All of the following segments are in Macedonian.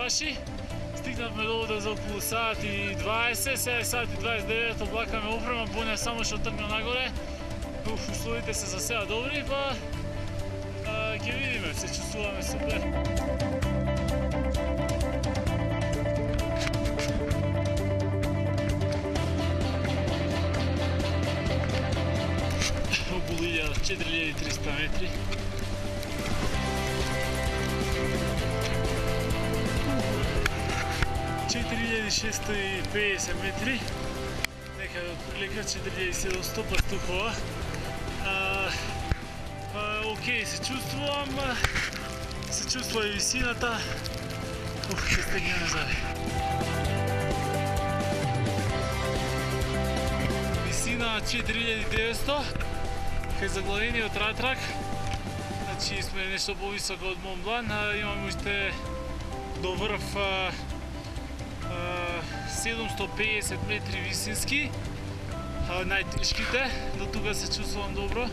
чаши. Стигнавме до овде за околу сат и 20, сега е сат и 29, облакаме опрема, Боња само што тргна нагоре. Условите се за сега добри, па ќе видиме, се чувствуваме супер. Околу 4300 метри. – 4650 метри, некаде отприлика 4700 пастухова. Окей, се чувствува и висината. Ќе стегнеме зави. Висина 4900, кај заглавениот ратрак. Значи сме нешто повисоко од Мон Блан, имаме уште до врв 750 метри висински, најтешките, до тука се чувствувам добро.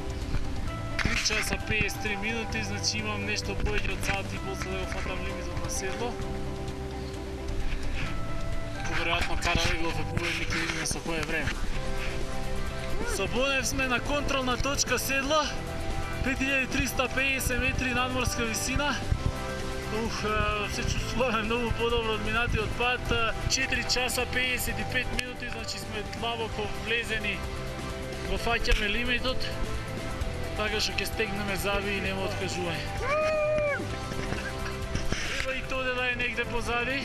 3 часа 53 минути, значи имам нешто повеќе од сат и после да го фатам лимитот на седло. Поверојатно карале го вебувајме, ќе видиме со кое време. Со Бонев сме на контролна точка седло, 5350 метри надморска висина. Се чувствуваме многу подобро од минатиот пат. 4 часа 55 минути, значи сме длабоко влезени, го фаќаме лимитот, така што ќе стегнеме зави и нема откажување. Треба и тоа да е негде позади,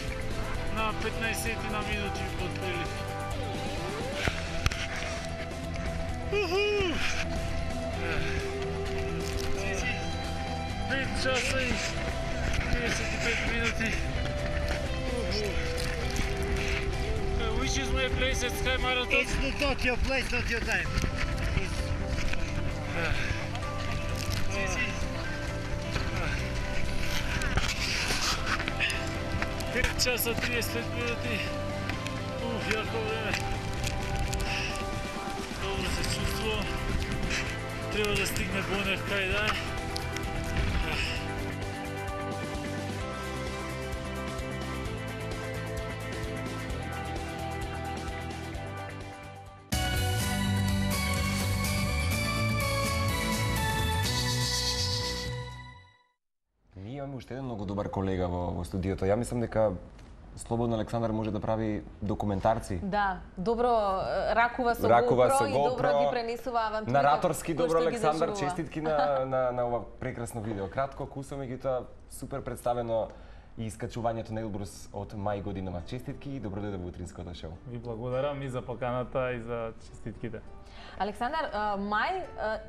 на 15 на минути од прилив. 5 часа и 55 минути. Which is my place at Sky Marathon? It's not your place, not your time. 5 часа 35 минути. Јако време. Добро се чувствувам. Треба да стигне Бонев кај да е. Имаме уште еден многу добар колега во студиото. Ја мислам дека слободно Александар може да прави документарци. Да, добро ракува со GoPro и добро ги пренесува авантурите. Нараторски добро Александар, честитки на ова прекрасно видео. Кратко, кусо, меѓутоа супер представено и искачувањето на Елбрус од мај годинава. Честитки и добро дојде во утринското шоу. Ви благодарам и за поканата и за честитките. Александар, мај,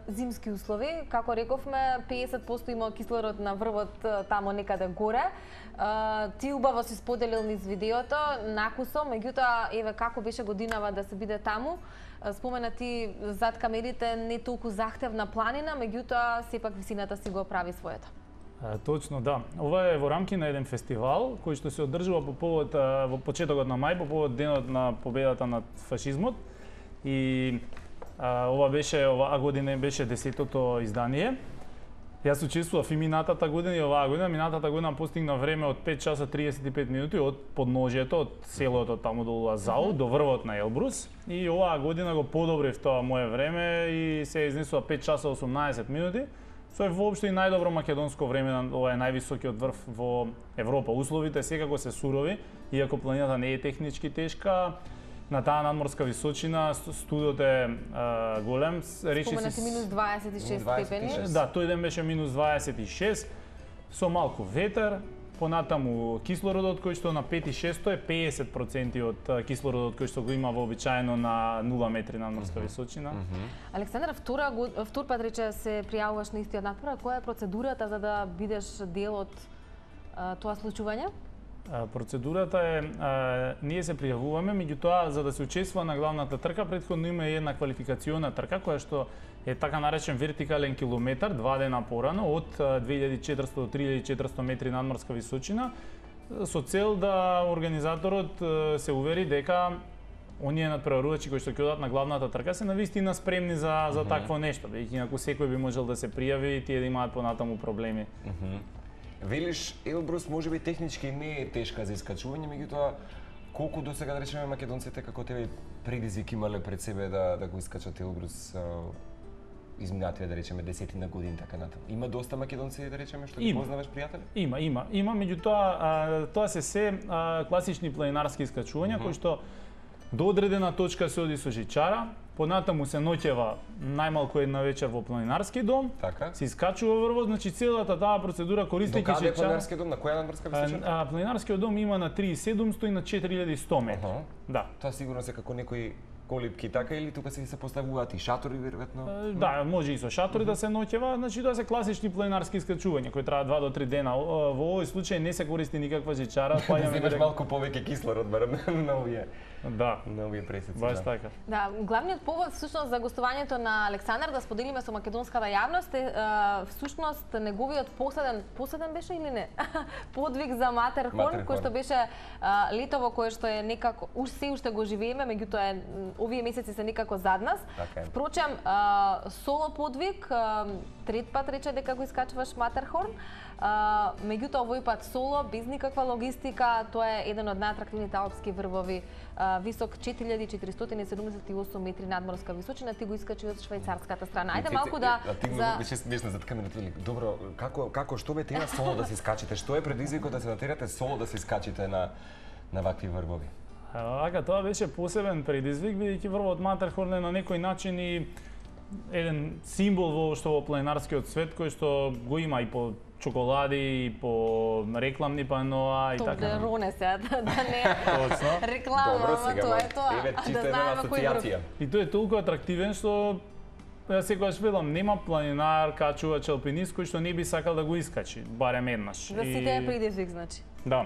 зимски услови, како рековме, 50% има кислород на врвот тамо некаде горе. Ти убаво си споделил низ видеото, накусо, меѓутоа, еве, како беше годинава да се биде таму. Спомена ти зад камерите не толку захтевна планина, меѓутоа, сепак висината си го прави своето. Точно, да. Ова е во рамки на еден фестивал кој што се одржува по повод во почетокот на мај, по повод денот на победата над фашизмот. И оваа година беше 10-тото издание. Јас учествував и минатата година и оваа година. Минатата година постигна време од 5 часа 35 минути од подножјето, од селото таму до Лазау, до врвот на Елбрус. И оваа година го подобрив тоа мое време и се изнесува 5 часа 18 минути. Со е воопшто и најдобро македонско време, ова е највисокиот врв во Европа. Условите секако се сурови, иако планината не е технички тешка. На таа надморска височина студот е голем. Споменати минус 26 степени. Да, тој ден беше минус 26, со малку ветер. Понатаму кислородот кој што на 5 и 6 е 50% од кислородот кој што го има вообичаено на 0 метри надморска височина. Александар, втор пат рече се пријавуваш на истиот натпор, која е процедурата за да бидеш дел од тоа случување? Процедурата е, ние се пријавуваме, меѓутоа за да се учествува на главната трка, претходно има една квалификациона трка која што е така наречен вертикален километар, 2 дена порано, од 2400 до 3400 метри надморска височина, со цел да организаторот се увери дека оние надпреварувачи кои што ќе одат на главната трка се навистина спремни за такво нешто, бидејќи инаку секој би можел да се пријави и тие да имаат понатаму проблеми. Велиш Елбрус можеби технички не е тешка за искачување, меѓутоа колку досега да речеме македонците како тебе предизвик имале пред себе да го искачат Елбрус изминативе да речеме 10 години така натаму. Има доста македонци да речеме што ги познаваш пријатели? Има, меѓутоа тоа се класични планинарски искачувања кои што до одредена точка се оди со жичара, понатаму се ноќева најмалку една вечер во планинарски дом, Така. се искачува врво, значи целата таа процедура користејќи До каде е жичара. планинарски дом? На која надморска височина? Планинарскиот дом има на 3700 и на 4100 метри. Да. Тоа сигурно се како некои колипки така или тука се поставуваат и шатори веројатно? Да, може и со шатори да се ноќева, значи тоа се класични планинарски искачувања кои траат 2 до 3 дена. Во овој случај не се користи никаква жичара, Земеш малку повеќе кислород барем на овие. Да. На овие пресеци. Баш така. Да, главниот повод всушност за гостувањето на Александар да споделиме со македонската јавност е всушност неговиот последен беше или не? Подвиг за Матерхорн кој што беше летово кое што е некако се уште го живееме, меѓутоа овие месеци се некако зад нас. Така е. Впрочем, соло подвиг, трет пат рече дека го искачуваш Матерхорн. Меѓутоа овој пат соло, без никаква логистика, тоа е еден од најатрактивните алпски врвови, висок 4478 метри надморска височина, ти го искачи од швајцарската страна. Ајде малку да ти беше смешно зад камерата. Добро, како што ве тера соло да се искачите? Што е предизвикот да се натерате соло да се искачите на вакви врвови? Ака, тоа беше посебен предизвик, бидејќи врвот Матерхорн е на некој начин и еден символ во планинарскиот свет кој што го има и по чоколади, и по рекламни паноа и така. Тоблероне се, да не Точно. реклама, ама тоа е тоа. Еве чисто една асоциација. И тој е толку атрактивен што секогаш велам, нема планинар, качувач, алпинист кој што не би сакал да го искачи, барем еднаш. За сите е предизвик, значи. Да.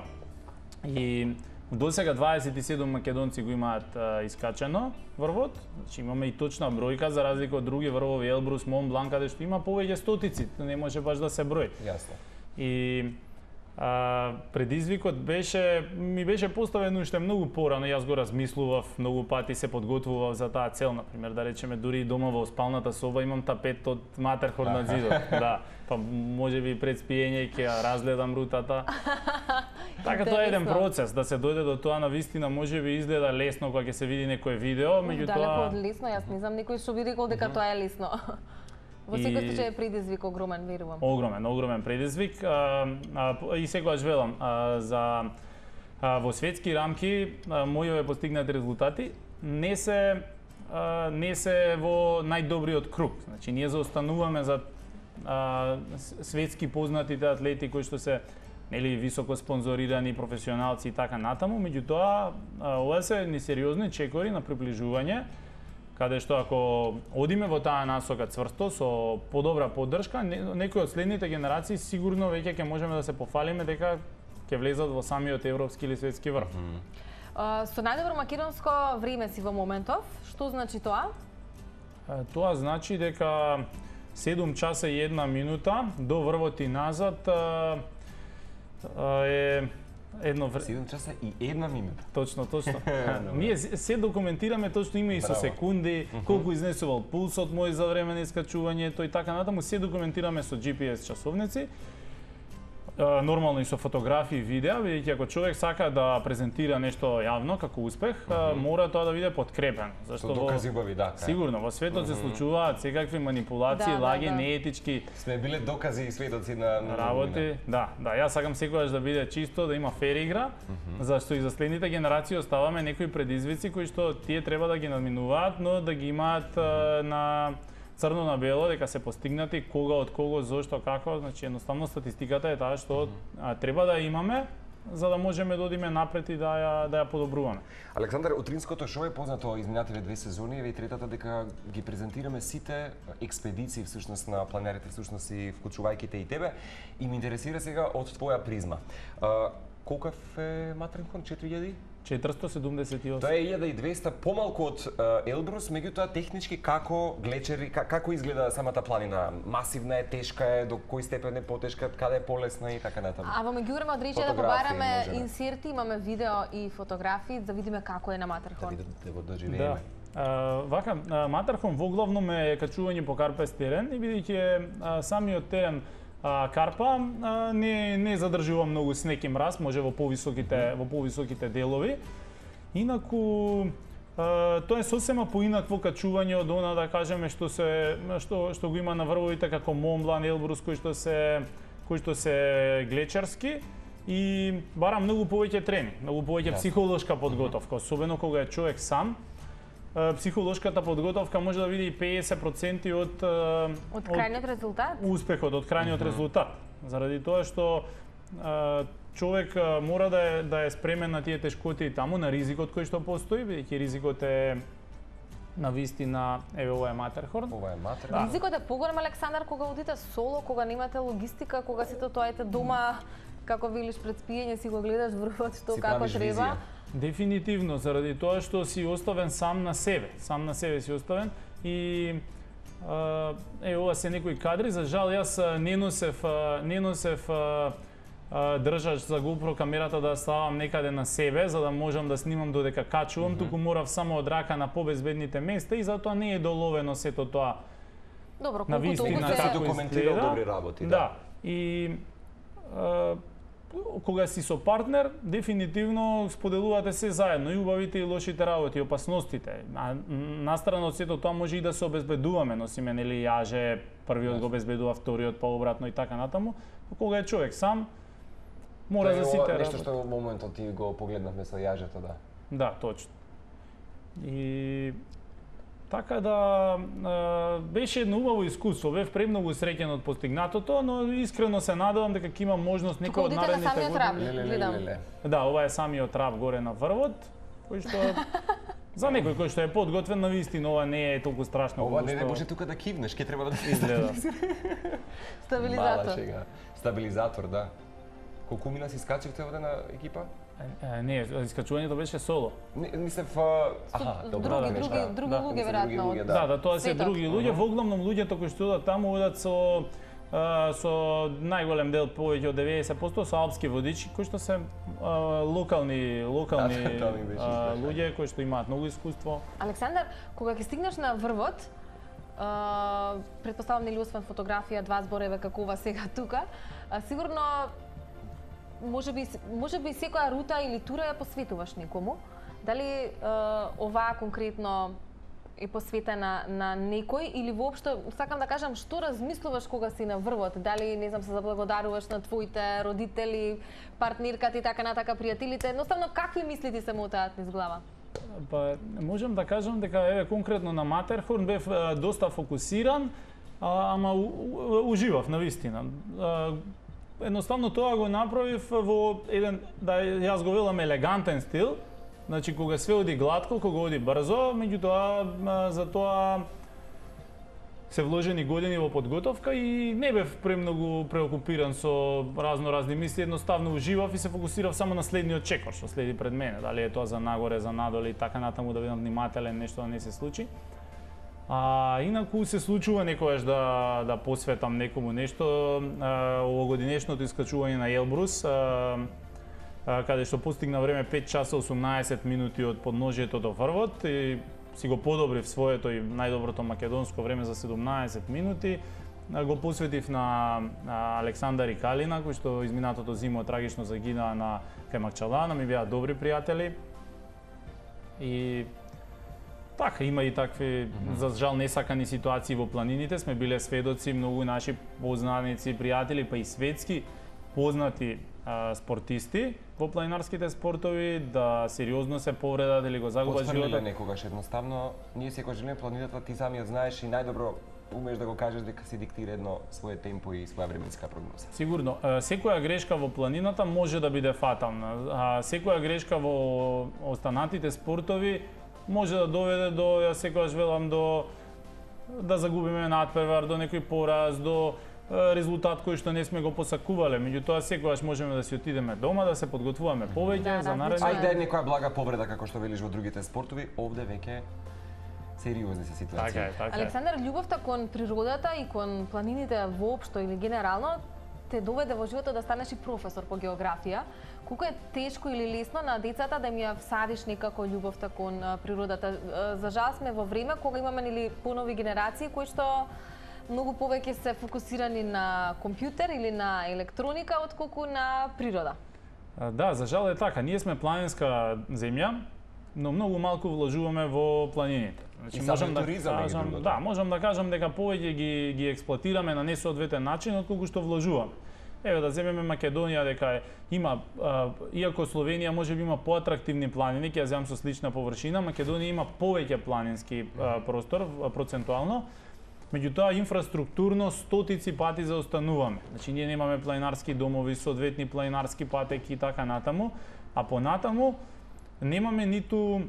И досега 27 македонци го имаат искачено врвот, значи имаме и точна бројка за разлика од други врвови, Елбрус, Мон Бланк, каде што има повеќе стотици, не може баш да се брои. Јасно. И предизвикот ми беше поставен уште многу порано, јас го размислував, многу пати се подготвував за таа цел, например, да речеме дури и дома во спалната соба имам тапет од Матерхорн на зидот. Да, па можеби пред спиење ќе ја разгледам рутата. Така тоа е еден процес, да се дојде до тоа на вистина можеби изгледа лесно кога ќе се види некое видео, меѓутоа Далеко од лесно, јас не знам никој што би рекол дека тоа е лесно. Во секој случај е предизвик огромен, верувам. Огромен предизвик. И секогаш велам, во светски рамки мојове постигнати резултати не се во најдобриот круг. Значи ние заостануваме за светски познатите атлети кои што се високо спонзорирани професионалци и така натаму, меѓутоа ова се несериозни чекори на приближување, каде што ако одиме во таа насока цврсто со подобра поддршка, некои од следните генерации сигурно веќе ќе можеме да се пофалиме дека ќе влезат во самиот европски или светски врв. Со најдобро македонско време си во моментов, што значи тоа? Тоа значи дека 7 часа и 1 минута до врвот и назад е едно 7 часа и 1 минута. Точно. Ние се документираме, точно има и со секунди, колку изнесувал пулсот мој за време на искачувањето и така натаму, се документираме со GPS часовници. Нормално и со фотографии и видеа, бидејќи ако човек сака да презентира нешто јавно како успех, мора тоа да биде подкрепено. Зашто докази убави, да. Сигурно, во светот се случуваат секакви манипулации, лаги, неетички. Сме биле докази и сведоци на работи. Да, јас сакам секогаш да биде чисто, да има фер игра, зашто и за следните генерации оставаме некои предизвици кои што тие треба да ги надминуваат, но да ги имаат на црно на бело, дека се постигнати, кога, од кого, зошто, како, значи едноставно статистиката е таа што треба да имаме за да можеме да одиме напред и да ја подобруваме. Александар, Утринското шоу е познато изминативе 2 сезони, еве и третата дека ги презентираме сите експедиции всушност на планерите, всушност и вклучувајќи те и тебе, и ме интересира сега од твоја призма. Колков е Матерхорн? 4000? 478. Тоа е 1200 помалку од Елбрус, меѓутоа технички како глечери, како изгледа самата планина? Масивна е, тешка е, до кој степен е потешка, каде е полесна и така натаму. А во меѓувреме од рече да побараме инсерти, имаме видео и фотографии да видиме како е на Матерхорн. Да го доживееме. Матерхорн воглавно е качување по карпест терен и бидејќи самиот терен карпа не задржува многу снег и мраз, може во повисоките делови. Инаку тоа е сосема поинакво качување од она, да кажеме, што го има на врвовите како Мон Блан, Елбрус, кои што се глечерски и бара многу повеќе тренинг, многу повеќе психолошка подготовка, особено кога е човек сам. Психолошката подготовка може да биде и 50% од крајниот резултат? Успехот, од крајниот резултат. Заради тоа што човек мора да е спремен на тие тешкоти таму, на ризикот кој што постои, бидејќи ризикот е на вистина, еве ова е Матерхорн. Ова е Матерхорн. Ризикот е поголем, Александар, кога одите соло, кога немате логистика, кога сите тоаете дома, како велиш пред спиење си го гледаш врвот што како треба. Дефинитивно, заради тоа што си оставен сам на себе си оставен и ова се некои кадри, за жал јас не носев држач за GoPro камерата да ставам некаде на себе за да можам да снимам додека качувам, туку морав само од рака на побезбедните места и затоа не е доловено сето тоа. Добро, на вистина се документирал добри работи, да. И кога си со партнер, дефинитивно споделувате се заедно, и убавите и лошите работи, опасностите. А настрана од сето тоа може и да се обезбедуваме, носиме нели јаже, првиот го обезбедува, вториот па обратно и така натаму. Кога е човек сам, мора за сите работи. Нешто што во моментот ти го погледнавме со јажето, да. Да, точно. И така да беше едно убаво искуство, бев премногу среќен од постигнатото, но искрено се надевам дека ќе имам можност некој од наредните години. Да, ова е самиот трап горе на врвот, кој што за некој кој што е подготвен, на вистина ова не е толку страшно. Ова не може тука да кивнеш, ќе треба да изгледа. Стабилизатор. Стабилизатор, да. Колку мина си скачивте овде на екипа? Не, искачувањето беше соло. Мислев, други луѓе веројатно. Да, тоа се други луѓе, во главном луѓето кои што одат таму одат со најголем дел, повеќе од 90% со алпски водичи, кои што се локални луѓе кои што имаат многу искуство. Александар, кога ќе стигнеш на врвот, претпоставам нели освен фотографија, два збореве како ова сега тука, сигурно може би секоја рута или тура ја посветуваш некому. Дали оваа конкретно е посветена на некој или воопшто сакам да кажам што размислуваш кога си на врвот? Дали не знам се заблагодаруваш на твоите родители, партнерката и така натака пријателите? Едноставно какви мисли ти се мотаат низ глава? Па можам да кажам дека еве конкретно на Матерхорн бев доста фокусиран, ама уживав на вистина. Едноставно тоа го направив во еден, да јас го велам, елегантен стил. Значи кога све оди глатко, кога оди брзо, меѓутоа за тоа се вложени години во подготовка и не бев премногу преокупиран со разни мисли, едноставно уживав и се фокусирав само на следниот чекор што следи пред мене, дали е тоа за нагоре, за надоле и така натаму, да бидам внимателен, нешто да не се случи. Инаку се случува некогаш да посветам некому нешто. Овогодинешното искачување на Елбрус, каде што постигна време 5 часа 18 минути од подножието до врвот и си го подобрив своето и најдоброто македонско време за 17 минути. Го посветив на Александар и Калина, кои што изминатото зимо трагично загинаа на Кајмакчалана, ми беа добри пријатели. И така, има и такви, за жал, несакани ситуации во планините. Сме биле сведоци, многу наши познаници, пријатели, па и светски познати спортисти во планинарските спортови да сериозно се повредат или го загубат животот. Некогаш едноставно, ние секогаш желиме планината, ти самиот знаеш и најдобро умееш да го кажеш дека си диктира едно свое темпо и своја временска прогноза. Сигурно, секоја грешка во планината може да биде фатална. Секоја грешка во останатите спортови може да доведе до, јас секогаш велам, до да загубиме надпревар, до некој пораз, до резултат кој што не сме го посакувале. Меѓутоа секогаш можеме да си отидеме дома, да се подготвуваме повеќе за наредно. Ајде некоја блага повреда како што велиш во другите спортови, овде веќе сериозни се ситуации. Така е. Александар, љубовта кон природата и кон планините воопшто или генерално те доведе во животот да станеш и професор по географија. Колку е тешко или лесно на децата да им ја всадиш некако љубовта кон природата? За жал сме во време кога имаме нели понови генерации кои што многу повеќе се фокусирани на компјутер или на електроника отколку на природа. Да, за жал е така. Ние сме планинска земја, но многу малку вложуваме во планините. Значи, можам да кажам, да, можам да кажам дека повеќе ги експлоатираме на несоодветен начин отколку што вложуваме. Еве да земеме Македонија, дека има, иако Словенија можеби има поатрактивни планини, ќе ја земам со слична површина, Македонија има повеќе планински простор процентуално, меѓутоа инфраструктурно стотици пати заостануваме. Значи ние немаме планинарски домови, соодветни планинарски патеки и така натаму, а понатаму немаме ниту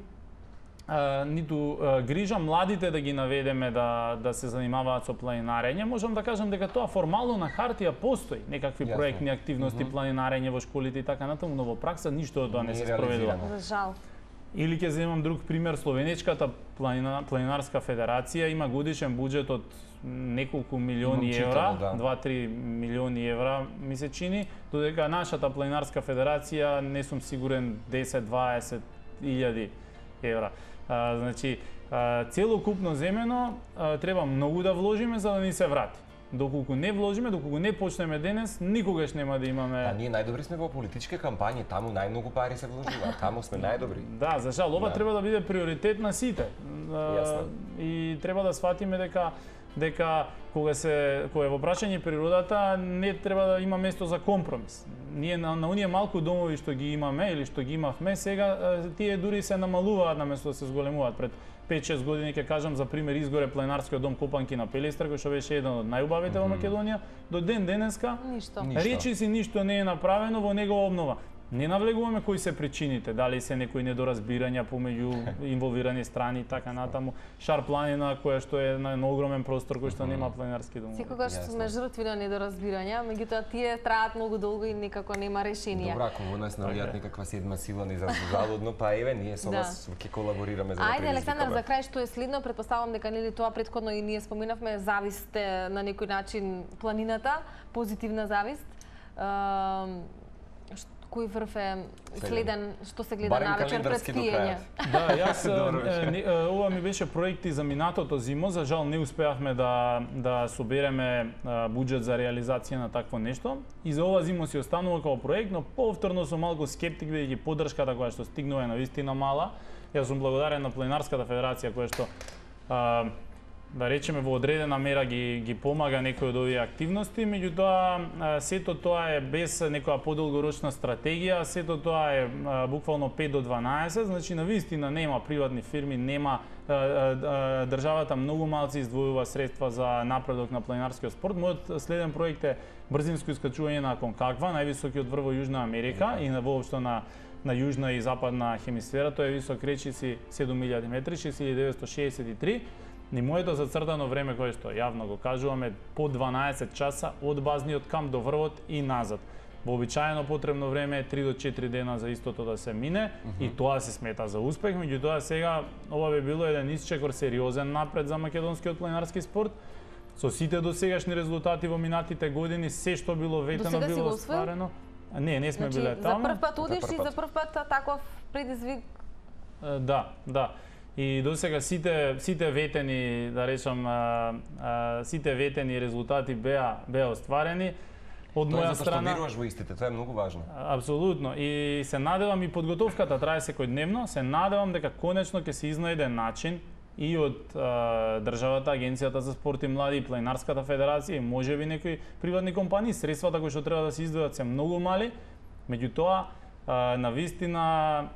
грижа младите да ги наведеме да се занимаваат со планинарење. Можам да кажам дека тоа формално на хартија постои, некакви проектни активности, планинарење во школите и така натаму, но во пракса ништо од тоа не се спроведува. За жал. Или ќе земам друг пример, Словенечката планинарска федерација има годишен буџет од неколку милиони евра, 2-3 милиони евра ми се чини, додека нашата планинарска федерација не сум сигурен 10-20 илјади евра. Значи, целокупно земено треба многу да вложиме за да ни се врати. Доколку не вложиме, доколку не почнеме денес, никогаш нема да имаме... ние најдобри сме во политички кампањи, таму најмногу пари се вложуваат, таму сме најдобри. Да, за жал, ова треба да биде приоритет на сите. И треба да сватиме дека кога е во прашање природата, не треба да има место за компромис. Ние на оние малку домови што ги имаме или што ги имавме, сега тие дури се намалуваат наместо да се зголемуваат. Пред 5-6 години ќе кажам за пример изгоре планинарскиот дом Копанки на Пелестар, кој што беше еден од најубавите во Македонија, до ден денеска речиси ништо не е направено во негова обнова. Не навлегуваме кои се причините, дали се некои недоразбирања помеѓу инволвирани страни и така натаму. Шар планина која што е на огромен простор кој што нема планинарски домови. Секогаш сме жртви на недоразбирања, меѓутоа тие траат многу долго и никако нема решение. Добра, ако во нас наоѓаат некаква седма сила ни залудно, па еве ние со вас ќе колаборираме за да предизвикаме. Ајде Александар, за крај што е следно, претпоставам дека нели тоа претходно и ние споминавме, зависте на некој начин планината, позитивна завист. Кој врв е следен, што се гледа навечер пред спиење? Да, јас ова ми беше проекти за минатото зимо, за жал не успеавме да собереме буџет за реализација на такво нешто. И за ова зимо си останува како проект, но повторно сум малку скептик бидејќи поддршката која што стигнува е навистина мала. Јас сум благодарен на Планинарската федерација која што да речеме во одредена мера ги помага некои од овие активности, меѓутоа сето тоа е без некоја подолгорочна стратегија, сето тоа е буквално 5 до 12, значи навистина нема приватни фирми, нема државата многу малци издвојува средства за напредок на планинарскиот спорт. Мојот следен проект е брзинско искачување на Аконкагва, највисокиот врв во Јужна Америка и воопшто на јужна и западна хемисфера. Тој е висок речиси 7000 метри, 6963. Ни моето зацртано време кое што јавно го кажуваме по 12 часа од базниот камп до врвот и назад. Вообичаено потребно време е 3 до 4 дена за истото да се мине и тоа се смета за успех, меѓутоа сега ова би било еден исчекор сериозен напред за македонскиот планинарски спорт. Со сите досегашни резултати во минатите години, се што било ветено било остварено. Не сме биле таму. За прв пат одиш и за прв пат таков предизвик. Да. И досега сите ветени, да речам, сите ветени резултати беа остварени. Од моја страна, тоа веруваш во истите, тоа е многу важно. Апсолутно. И се надевам и подготовката трае секојдневно, се надевам дека конечно ќе се изнајде начин и од државата, Агенцијата за спорт и млади, и Планинарската федерација, и можеби некои приватни компании, средствата кои што треба да се издвојат се многу мали, меѓутоа навистина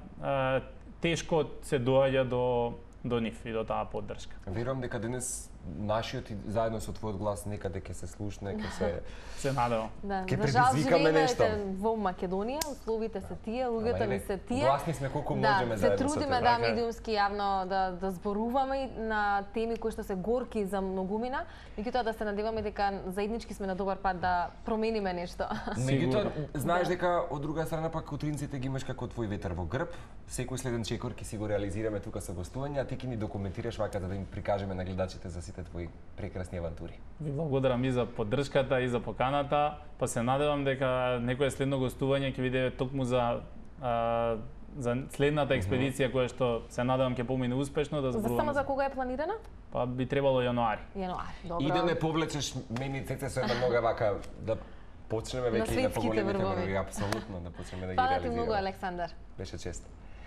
тешко се доаѓа до нив и до таа поддршка. Верувам дека денес нашиот и заедно со твојот глас некаде ќе се слушне, ќе се надевам. Ќе предизвикаме нешто. Во Македонија, условите се тие, луѓето ни се тие. Гласни сме колку можеме заедно. Се трудиме да медиумски јавно да зборуваме на теми кои што се горки за многумина, меѓутоа да се надеваме дека заеднички сме на добар пат да промениме нешто. Меѓутоа, знаеш дека од друга страна пак утринците ги имаш како твој ветер во грб. Секој следен чекор ќе си го реализираме тука со гостување, а ти ќе ни документираш вака за да им прикажеме на гледачите за сите твои прекрасни авантури. Ви благодарам и за поддршката и за поканата, па се надевам дека некое следно гостување ќе биде токму за за следната експедиција која што се надевам ќе помине успешно да За зборуваме. само за кога е планирана? Па би требало јануари. Јануари, добро. И да не повлечеш мене Цеце со една нога вака да почнеме веќе и да светските поголемите врвови. врвови, апсолутно да почнеме да ги Фала ти реализираме. многу, Александар. Беше чест.